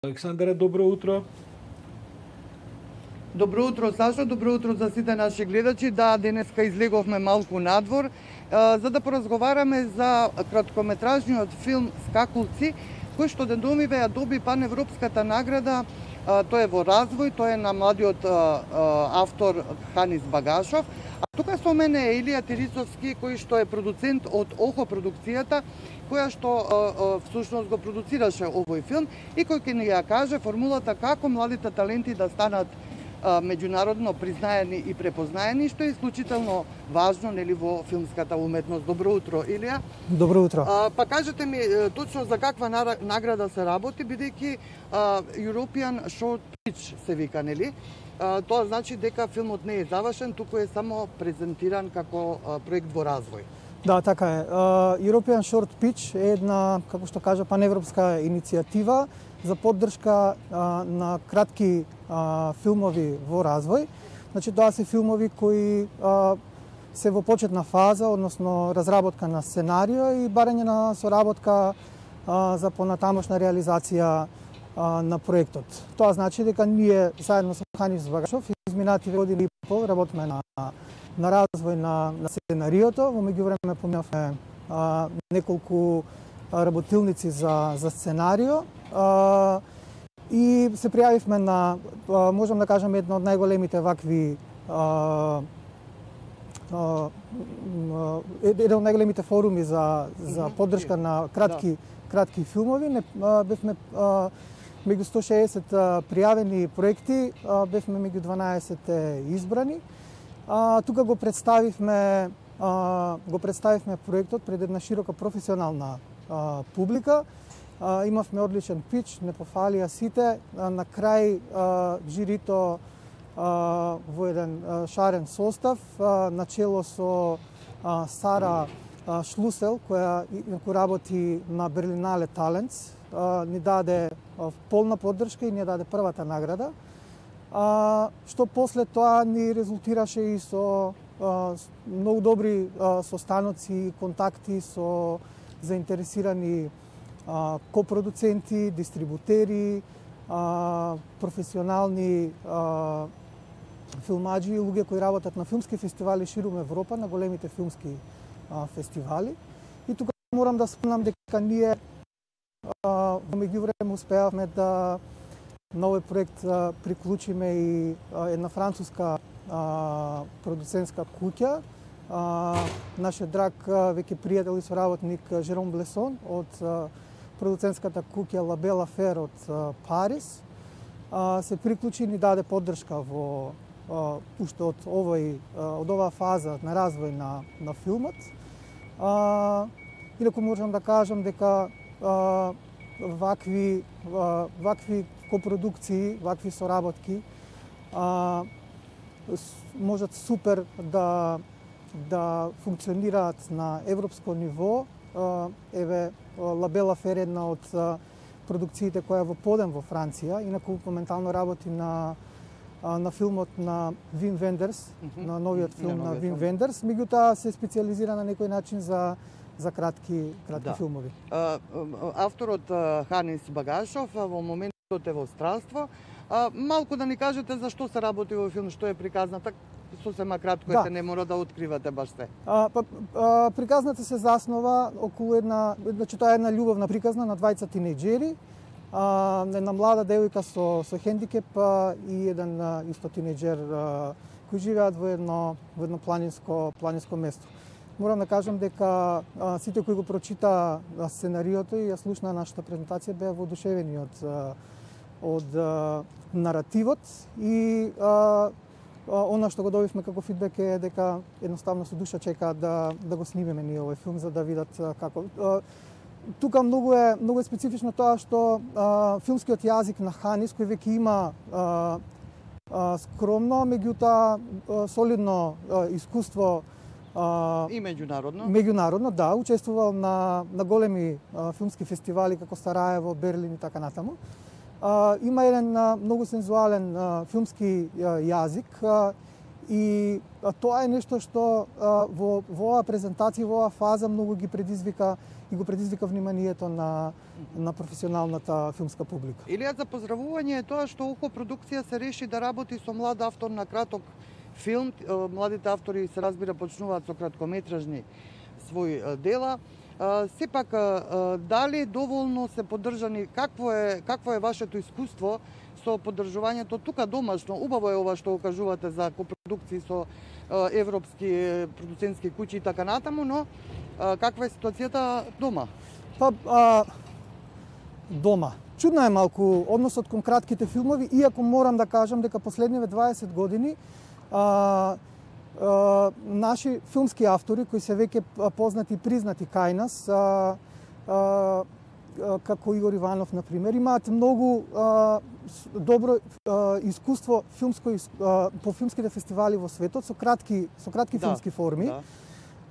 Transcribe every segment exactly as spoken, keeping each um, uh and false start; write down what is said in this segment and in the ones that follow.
Александре, добро утро. Добро утро, Сашо, добро утро за сите наши гледачи. Да, денеска излеговме малку надвор, за да поразговараме за краткометражниот филм Скакулци, кој што деномиве ја доби паневропската награда. Тој е во развој, тој е на младиот автор Ханис Багашов. А тука со мене е Илија Терисовски, кој што е продуцент од Охо продукцијата, која што всушност го продуцираше овој филм и кој ќе ни ја каже формулата како младите таленти да станат меѓународно признаени и препознаени, што е исклучително важно нели во филмската уметност. Добро утро, Илија. Добро утро. А, па кажете ми точно за каква награда се работи, бидејќи European Short Pitch се вика, нели? А, тоа значи дека филмот не е завршен, туку е само презентиран како а, проект во развој. Да, така е. Uh, European Short Pitch е една, како што кажа, паневропска иницијатива за поддршка uh, на кратки uh, филмови во развој. Значи, тоа се филмови кои uh, се во почетна фаза, односно разработка на сценарио и барање на соработка uh, за понатамошна реализација uh, на проектот. Тоа значи дека ние заедно со Ханис Багашов изминати години и пол работиме на на развој на, на сценариото. Во меѓувреме поминавме а, неколку а, работилници за, за сценарио а, и се пријавивме на, а, можам да кажам, една од најголемите вакви а, а, еден од најголемите форуми за, за поддршка на кратки, кратки филмови. Не, а, бевме а, меѓу сто и шеесет пријавени проекти, а, бевме меѓу дванаесет избрани. А, тука го представивме а, го представивме проектот пред една широка професионална а, публика. А, имавме одличен пич, не пофалија сите. А, на крај а, жирито а, во еден а, шарен состав, а, начело со а, Сара а, Шлусел, која, која работи на Берлинале Талентс, а, ни даде а, полна поддршка и ни даде првата награда. А, што после тоа ни резултираше и со а, многу добри а, состаноци, контакти со заинтересирани а, копродуценти, дистрибутери, а, професионални а, филмаджи и луѓе кои работат на филмски фестивали ширум Европа, на големите филмски а, фестивали. И тука морам да спомнам дека ние а, во меѓувреме успеавме да на овој проект а, приклучиме и а, една француска а, продуцентска куќа. А, нашиот драг а, веќе пријател и соработник Жером Блесон од а, продуцентската куќа La Belle Affaire од а, Париз. А, се приклучи и ни даде поддршка во а, уште од овој а, од оваа фаза на развој на на филмот. А, инаку можам да кажам дека а, вакви а, вакви копродукции, вакви соработки а, можат супер да да функционираат на европско ниво. А, еве La Belle Affaire е една од а, продукциите која е во подем во Франција, инаку моментално работи на а, на филмот на Вим Вендерс, mm -hmm. на новиот филм на, на Вим Вендерс, меѓутоа се специализира на некој начин за за кратки кратки да. филмови. А, авторот Ханис Багашов во моментот е во странство. А, малку да ни кажете за што се работи во филм, што е приказната, сосема кратко, да. Не мора да откривате баш се. А, па, а, приказната се заснова околу една, значи тоа е една љубовна приказна на двајца тинејџери, а, една млада девојка со со хендикеп а, и еден а, исто тинејџер а, кои живеат во едно во едно планинско планинско место. Морам да кажам дека а, сите кои го прочита а, сценариото и ја слушна нашата презентација беа воодушевени од а, од а, наративот и а, а, она што го добивме како фидбек е дека едноставно со душа чекаат да да го снимеме ние овој филм за да видат а, како а, тука многу е многу е специфично тоа што а, филмскиот јазик на Ханис кој веќе има а, а, скромно, меѓутоа солидно а, искуство Uh, и меѓународно. Меѓународно, да, учествувал на на големи а, филмски фестивали како Сараево, Берлин и така натаму. А, има еден а, многу сензуален а, филмски а, јазик а, И а, тоа е нешто што а, во, во оваа презентација, во оваа фаза многу ги предизвика и го предизвика вниманието на на професионалната филмска публика. Илија, за поздравување е тоа што ОКО продукција се реши да работи со млад автор на краток филм. Младите автори се разбира почнуваат со краткометражни своји дела. Сепак, дали доволно се поддржани, какво е какво е вашето искуство со поддржувањето тука домашно? Убаво е ова што кажувате за копродукции со европски продуцентски куќи и така натаму, но каква е ситуацијата дома? Па, а, дома. Чудна е малку односот кон кратките филмови, иако морам да кажам дека последниве дваесет години а, а, наши филмски автори, кои се веќе познати и признати кај нас, а, а, како Игор Иванов, например, имаат многу а, добро а, искуство филмско, а, по филмските фестивали во светот со кратки, со кратки да, филмски форми. Да.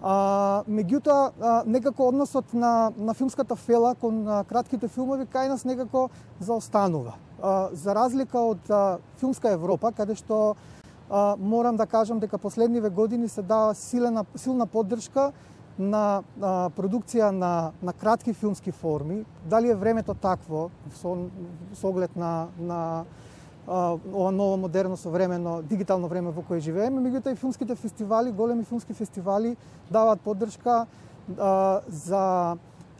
А, меѓутоа, некако односот на, на филмската фела кон а, кратките филмови кај нас некако заостанува. А, за разлика од а, филмска Европа, каде што а, морам да кажам дека последниве години се дава силена, силна поддршка на а, продукција на, на кратки филмски форми. Дали е времето такво, со, со оглед на, на а, ова ново модерно современо дигитално време во кое живееме, меѓутоа и филмските фестивали, големи филмски фестивали даваат поддршка а, за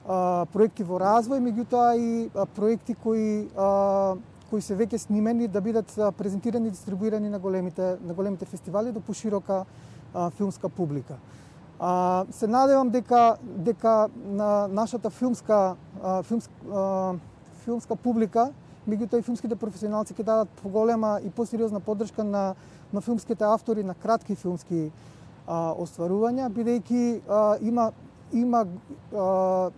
а, проекти во развој, меѓутоа и а, проекти кои а, кои се веќе снимени да бидат презентирани и дистрибуирани на големите на големите фестивали до поширока а, филмска публика. А, се надевам дека дека на нашата филмска а, филмска, а, филмска публика, меѓутоа и филмските професионалци ќе дадат поголема и посериозна поддршка на на филмските автори на кратки филмски а, остварувања, бидејќи а, има има а,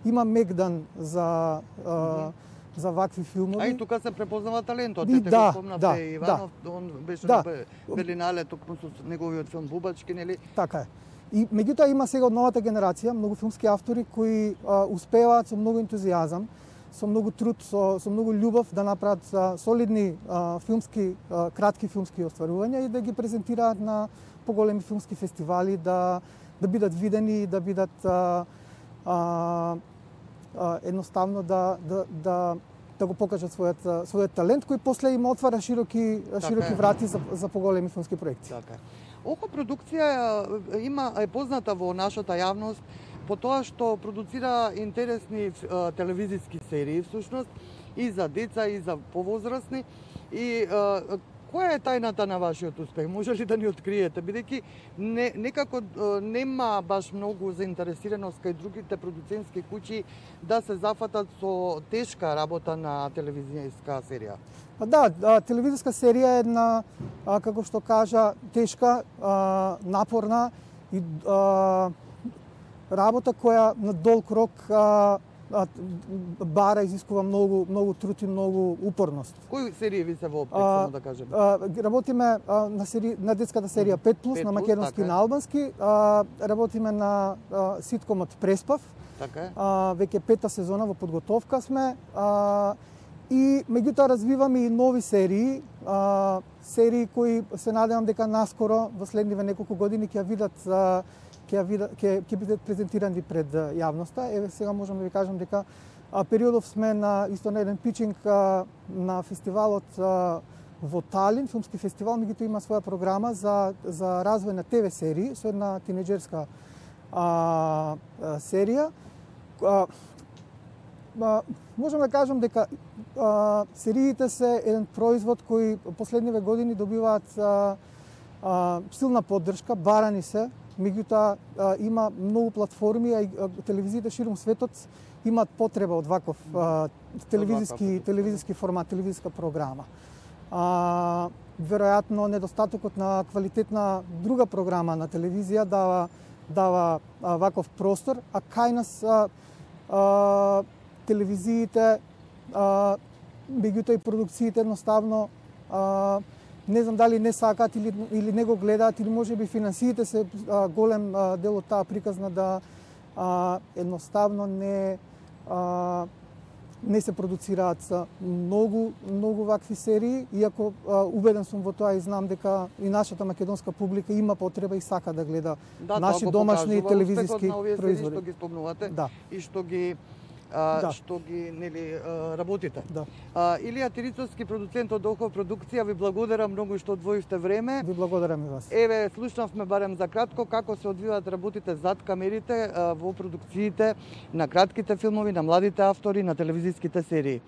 има мегдан за а, за вакви филмови. А и тука се препознава талентот. И, Те да, го спомнавте да, Иванов, да. Он беше да. на Белинале токму со неговиот филм Бубачки, нели? Така е. И меѓутоа има сега од новата генерација многу филмски автори кои а, успеваат со многу ентузијазам, со многу труд, со, со многу љубов да направат а, солидни а, филмски, а, кратки филмски остварувања и да ги презентираат на поголеми филмски фестивали, да да бидат видени, да бидат а, а, а, едноставно да да да да го покажат својот својот талент кој после им отвара широки широки така врати за за поголеми филмски проекти. Така. ОКО продукција има е позната во нашата јавност по тоа што продуцира интересни а, телевизиски серии всушност и за деца и за повозрасни и а, која е тајната на вашиот успех? Може ли да ни откриете? Бидејќи не, некако нема баш многу заинтересираност кај другите продуцентски куќи да се зафатат со тешка работа на телевизијска серија. Да, телевизиска серија е една, како што кажа, тешка, напорна и работа која на долг рок бара, изискува многу многу труд и многу упорност. Кои серии ви се воопрек, само да кажем? Работиме на сери, на детската серија пет плюс на македонски и на албански, работиме на ситкомот Преспав. Така е. Веќе пета сезона во подготовка сме. И меѓутоа развиваме и нови серии, а, серии кои се надевам дека наскоро во следниве неколку години ќе видат ќе видат ќе ќе бидат презентирани пред јавноста. Еве сега можам да ви кажам дека а, периодов сме на исто на еден пичинг а, на фестивалот а, во Талин, филмски фестивал, меѓутоа има своја програма за за развој на ТВ серии со една тинеџерска а, а, серија. А, а, можам да кажам дека а, сериите се еден производ кој последниве години добиваат а, а, силна поддршка, барани се, меѓутоа има многу платформи, а и телевизиите ширум светот имаат потреба од ваков а, телевизиски телевизиски формат, телевизиска програма. А, веројатно недостатокот на квалитетна друга програма на телевизија дава дава а, ваков простор, а кај нас а, а, телевизиите, меѓутоа и продукциите едноставно а, не знам дали не сакаат или или не го гледаат или можеби финансиите се а, голем а, дел од таа приказна да а, едноставно не а, не се продуцираат за многу многу вакви серии, иако а, убеден сум во тоа и знам дека и нашата македонска публика има потреба и сака да гледа да, наши домашни телевизиски производи. Што ги спомнувате да. и што ги а, да. што ги нели работите. Да. А, Илија Тирицовски, продуцент од Охов продукција, ви благодарам многу што одвоивте време. Ви благодарам и вас. Еве, слушнавме барем за кратко како се одвиваат работите зад камерите а, во продукциите на кратките филмови, на младите автори, на телевизиските серии.